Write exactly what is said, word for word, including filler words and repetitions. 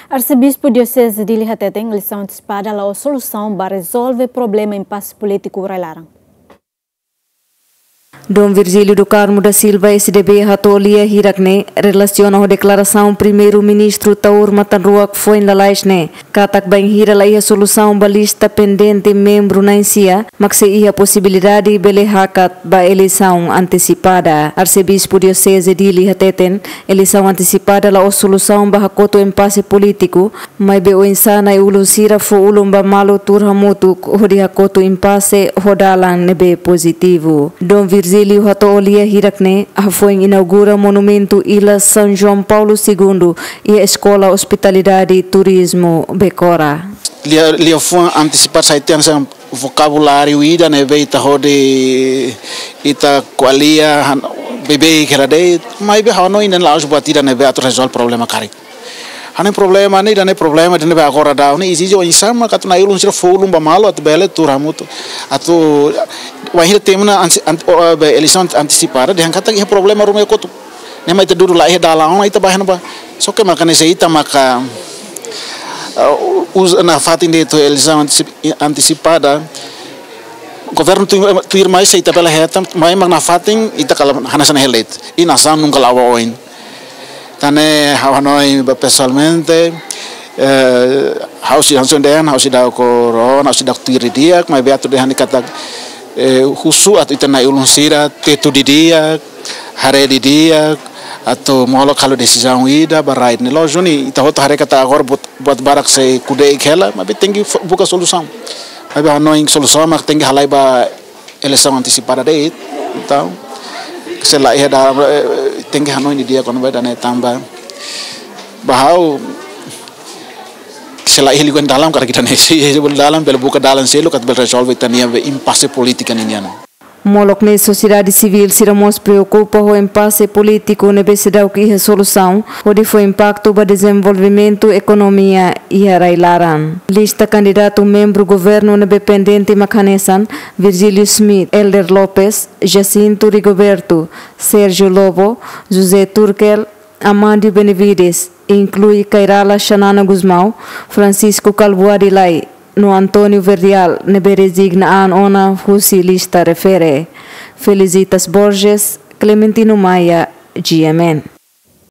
Arsebispu Dioseze Dili hateten eleisaun antesipada la'ós solusaun ba rezolve problema impase polítiku rai-laran. Dom Virgílio do Carmo da Silva, S D B, hato'o lia hirak ne'e relasiona ho deklarasaun Primeiru-Ministru Taur Matan Ruak foin lalais ne'e katak bainhira la iha solusaun ba lista pendente membru na'in-sia, mak sei iha posibilidade bele hakat ba eleisaun antesipada. Arsebispu Dioseze Dili hateten, eleisaun antesipada la'ós solusaun ba hakotu impase polítiku, maibé oinsá na'i-ulun sira fó ulun ba malu tuur hamutuk hodi hakotu impase ho dalan ne'ebé pozitivu. Dom Virgílio hato'o lia hirak ne'e hafoin inaugura monumentu Ila São João Paulo Segundo iha Eskola Ospitalidade Turizmu Becora. Lia, liafuan antesipada sai tiha hanesan vokabuláriu ida ne'ebé ita hodi, ita ko'alia han-, beibeik hela de'it, maibé ha'u hanoin ne'e la'ós buat ida ne'ebé atu rezolve problema karik. Hanoin problema ne'e, ida-ne'e problema ida ne'ebé agora daudaun ne'e ezije oinsá mak atu na'i-ulun sira fó ulun ba malu atu bele tuur hamutuk. Atu bainhira temi ona anti-, anti-, o, be, eleisaun antesipada, dehan katak iha problema ruma iha kotuk. Ne'e mak ita dudu la iha dalan ona ita bá iha ne'ebá. Só ke maka ne'e se ita maka, uh, uza nafatin de'it eleisaun antesi-, antesipada. Governu tuir, tuirmai sei ita bele hetan, maibé mak nafatin ita kala hanesan hela de'it. I nasaun nunka la'o ba oin. Tan ne'e ha'u hanoin ba pesoalmente, eh, ha'u sei hanesan dehan, ha'u seidauk rona, ha'u seidauk tuir didi'ak, maibé atu dehan katak, eh, husu atu ita na'i-ulun sira tetu didi'ak, haree didi'ak, atu molok halo desizaun ida ba rai ne'e. Lójiku ne'e, ita hotu haree katak agora buat, buat barak sei kude'ik hela, maibé tenke fo-, buka solusaun. Maibé ha'u hanoin solusaun mak tenke halai ba eleisaun antesipada de'it. Entaun, se la iha dalan, eh, tenke hanoin didi'ak kona-ba ida-ne'e tanba ba ha'u, se la iha liu dalan karik ita-nia, se iha dalan, bele buka dalan seluk atu bele rezolve ita-nia be impase polítika ninian. Molok ne'e sosiedade sivíl sira mós preokupa ho impase polítiku ne'ebé seidauk iha solusaun, hodi fó impaktu ba dezenvolvimentu ekonomia iha rai-laran. Lista kandidatu membru governu ne'ebé pendente mak hanesan Virgílio Schmidt, Helder Lopes, Jacinto Rigoberto, Sérgio Lobo, José Turkel, Amandio Benevides, inklui Khairala Xanana Gusmão, Francisco Kalbuadi Lay, no António Verdial, ne'ebé rezigna an ona husi lista refere. Felicitas Borges, Clementino Maia, G M N.